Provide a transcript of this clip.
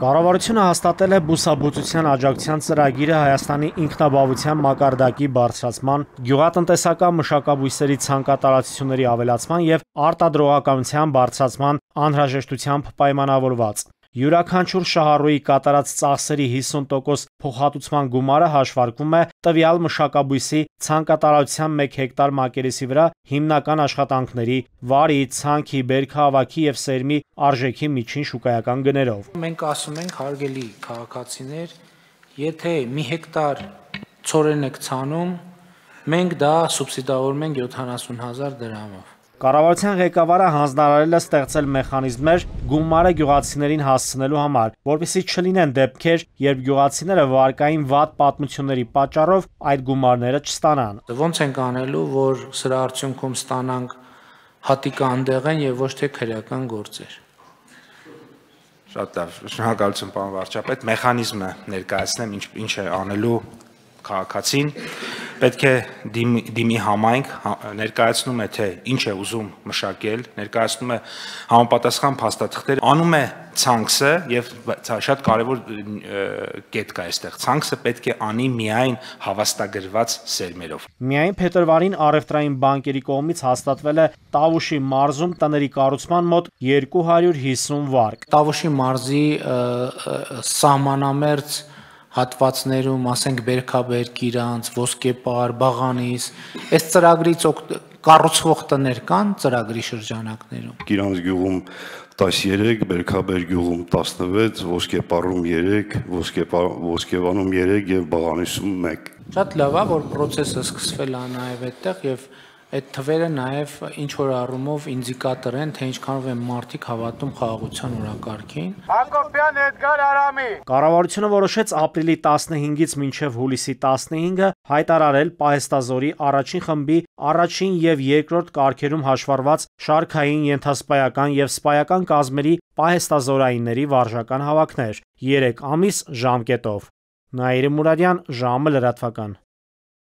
Կառավարությունը հաստատել է բուսաբուծության աջակցության ծրագիրը Հայաստանի ինքնաբավության մակարդակի բարձրացման, գյուղատնտեսական մշակաբույսերի ցանկատարածությունների ավելացման և արտադրողականության բարձրացման անհրաժեշտությամբ պայմանավորված։ Յուրաքանչյուր շահառուի կատարած ծախսերի 50% փոխհատուցման գումարը հաշվարկվում է տվյալ մշակաբույսի ցանկատարածության 1 հեկտար մակերեսի վրա հիմնական աշխատանքների, վարի, ցանքի, բերքահավաքի և սերմի արժեքի միջին շուկայական գներով։ Մենք ասում ենք, հարգելի քաղաքացիներ, եթե մի հեկտար ցորեն եք ցանում, մենք դա սուբսիդավորում ենք 70,000 դրամով։ Կառավարության ղեկավարը հանձնարարել է ստեղծել մեխանիզմներ գումարը գյուղացիներին հասցնելու համար, որպեսզի չլինեն դեպքեր, երբ գյուղացիները վարկային վատ պատմությունների պատճառով այդ գումարները չստանան։ Ոնց ենք անելու, որ սրա արդյունքում ստանանք հատիկը անդեղեն եւ ոչ թե քրեական գործեր։ Շատ լավ, շնորհակալություն պարոն վարչապետ, մեխանիզմը ներկայացնեմ, ինչ է անելու քաղաքացին, պետք է դիմի համայնք, ներկայացնում է թե ինչ է ուզում մշակել, ներկայացնում է համապատասխան փաստաթղթեր, անում է ցանքսը եւ շատ կարեւոր կետ կա այստեղ, ցանքսը պետք է անի միայն հավաստագրված սերմերով։ Միայն փետրվարին առևտրային բանկերի կողմից հաստատվել է Տավուշի մարզում տների կառուցման մոտ 250 վարկ։ Տավուշի մարզի սահմանամերձ հատվածներում, ասենք Բերքաբերք, Իրանց, Ոսկեպար, Բաղանիս, այս ծրագրից կառուցվող տներ կան ծրագրի շրջանակներում։ Իրանց գյուղում 13, Բերքաբերք գյուղում 16, Ոսկեպարում 3, Ոսկեվանում 3 եւ Բաղանիսում 1։ Շատ լավ է, որ process-ը սկսվել է նաև այդտեղ եւ այդ թվերը նաև ինչ որ առումով ինդիկատոր են, թե ինչքանով են մարդիկ հավատում խաղաղության օրակարգին։ Հակոբյան Էդգար Արամի։ Կառավարությունը որոշեց ապրիլի 15-ից մինչև հուլիսի 15-ը հայտարարել պահեստազորի առաջին խմբի առաջին եւ երկրորդ կարգերում հաշվառված շարքային, ենթասպայական եւ սպայական կազմերի պահեստազորայինների վարժական հավաքներ 3 ամիս ժամկետով։ Նաիրի Մուրադյան, ժամը լրատվական։